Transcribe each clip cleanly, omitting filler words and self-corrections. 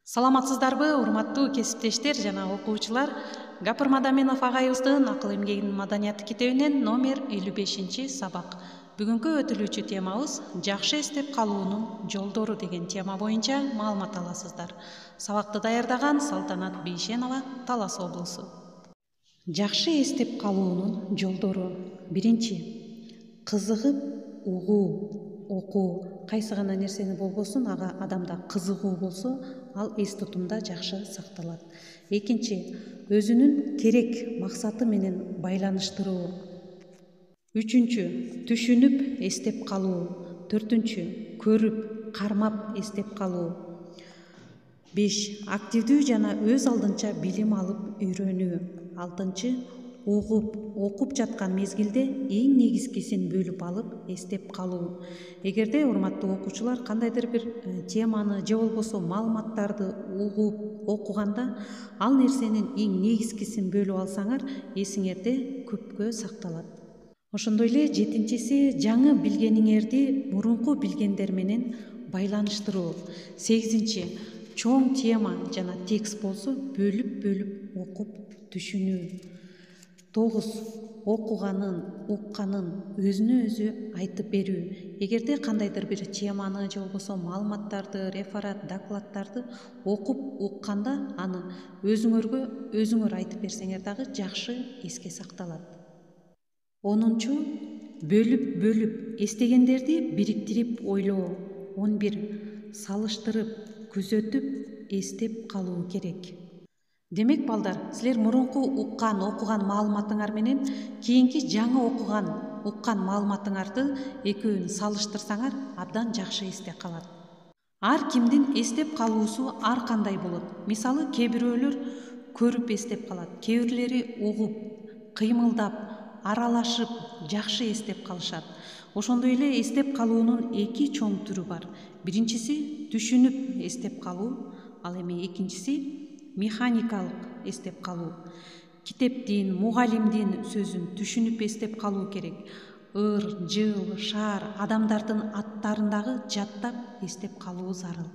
Саламатсыздарбы, урматтуу кесиптештер жана окуучулар? Гапыр Мадаминов агайыбыздын Акыл эмгегинин маданияты китебинен номер 55-сабак. Бүгүнкү өтүлүүчү темабыз жакшы эстеп калуунун жолдору деген тема боюнча маалымат аласыздар. Сабакты даярдаган Салтанат Бейшенова, Талас облусу. Жакшы эстеп калуунун жолдору. Биринчи, кызыгып угуу. Окуу кайсы гана нерсени болбосун, ага адамда кызыгуу болсо, ал эс тутумда жакшы сакталат. Экинчи, өзүнүн керек максаты менен байланыштыруу. Үчүнчү, түшүнүп эстеп калуу. Төртүнчү, көрүп, кармап эстеп калуу. 5. Активдүү жана өз алдынча билим алып үйрөнүү. 6. Угуп, окуп жаткан мезгилде эң негизгисин бөлүп алып эстеп калуу. Эгерде урматтуу окуучулар кандайдыр бир теманы же болбосо маалыматтарды угуп окуганда ал нерсенин эң негизгисин бөлүп алсаңар, эсиңерде көпкө сакталат. Ошондой эле 7-си, жаңы билгениңерди мурунку билгендер менен байланыштыруу. 8. Чоң тема жана текст болсо бөлүп окуп түшүнүү. 9. Окуганын, укканын өзүнө өзү айтып берүү. Эгерде кандайдыр бир теманы же болбосо маалыматтарды, реферат, докладдарды окуп укканда аны өзүңөр айтып берсеңер дагы жакшы эске сакталат. 10. Бөлүп эстегендерди бириктирип ойлоо. 11. Салыштырып, күзөтүп эстеп калуу керек. Демек балдар, силер мурунку окуган маалыматыңар менен кийинки жаңы уккан маалыматыңарды экөөнү салыштырсаңар, абдан жакшы эсте калат. Ар кимдин эстеп калуусу ар кандай болот. Мисалы, кээ бирөөлөр көрүп эстеп калат, кээ бирлери угуп, кыймылдап, аралашып жакшы эстеп калышат. Ошондой эле эстеп калуунун эки чоң түрү бар. Биринчиси түшүнүп эстеп калуу, ал эми экинчиси механикалык эстеп калуу. Китептин, мугалимдин сөзүн түшүнүп эстеп калуу керек. Ыр, жыл, шаар, адамдардын аттарын дагы жаттап эстеп калуу зарыл.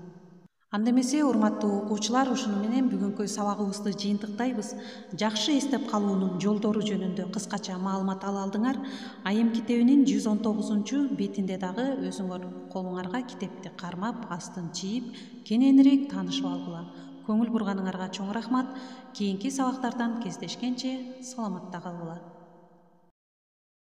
Анда эмесе, урматтуу окуучулар, ушуну менен бүгүнкү сабагыбызды жыйынтыктайбыз. Жакшы эстеп калуунун жолдору жөнүндө кыскача маалымат ала алдыңар. Айым китебинин 119-бетинде дагы өзүңөр колуңарга китепти кармап, астын чийип, кененирээк таанышып алгыла. Көңүл бурганыңарга чоң рахмат. Кийинки сабактардан кездешкенче саламатта калгыла.